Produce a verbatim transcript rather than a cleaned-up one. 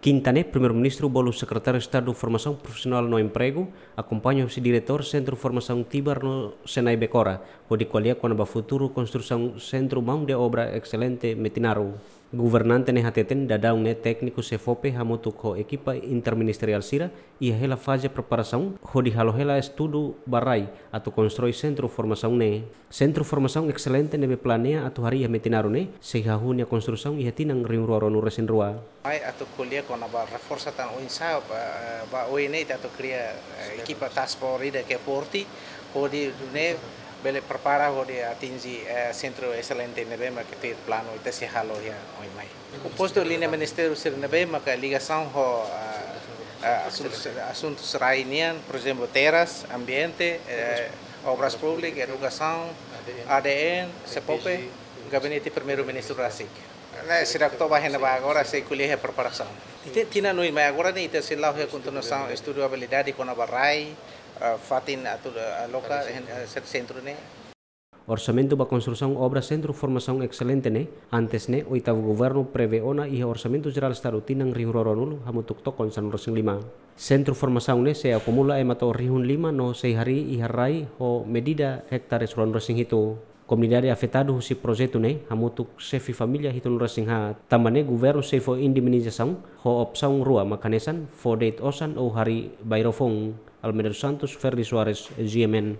Kinta ne'e, Primeiru-Ministru bolu Sekretáriu Estadu Formasaun Profisionál no Empregu, akompaña husi diretór Sentru Formasaun Tibar no Senai Bekora, hodi ko'alia kona-ba futuru konstrusaun Sentru Maun de Obra Excelente Metinaro. Governante ne'e hateten daudaun ne'e tékniku SEFOPE hamutuk ho ekipa interministeriál sira iha hela faze preparasaun hodi halo hela estudu ba rai atu konstrui sentru formasaun ne'e. Sentru Formasaun Excelente ne'ebé planeia atu harii iha Metinaro ne'e sei hahú nia konstrusaun iha tinan rihun rua ruanulu-resin-rua. Mai atu ko'alia kona-ba reforsa tan oinsá ba, ba oin ne'e ita atu kria, eh, ekipa task force ida ke forte, hodi nune'e bele prepara hodi atinji, eh, sentru excelente ne'ebé mak ita planu ita sei halo iha oin mai. Kompostu liña ministériu sira ne'ebé maka ligasaun ho, eh, eh, asuntus, asuntus rai nian, por ezemplu, terras, ambiente, eh, obras públikas, edukasaun, A D N, SEFOPE, gabinete Primeiru-Ministru rasik. Ne'e sira toba hena ba agora sei ko'alia preparasaun. Ti-, tinan oin mai agora ne'e ita sei la'o iha kontinuasaun estudu abilidade kona-ba rai, eh, fatin atu, eh, aloka, eh, sentru ne'e. Orsamentu ba konstrusaun obra Sentru Formasaun Excelente ne'e, antes ne'e, oitavu governu prevee ona iha Orsamentu Jerál Estadu tinan rihun rua ruanulu hamutuk tokon sanulu-resin-lima. Sentru formasaun ne'e sei akumula ema to'o rihun lima no sei harii iha rai ho medida ektares ruanulu-resin-hitu. Komunidade afetadu husi projetu ne'e hamutuk xefe família hitunulu-resin-haat. Tanba ne'e governu sei fó indemnizasaun ho opsaun rua mak hanesan fó de'it osan ou harii bairro foun. Almeida dos Santos, Ferdi Soares, G M N.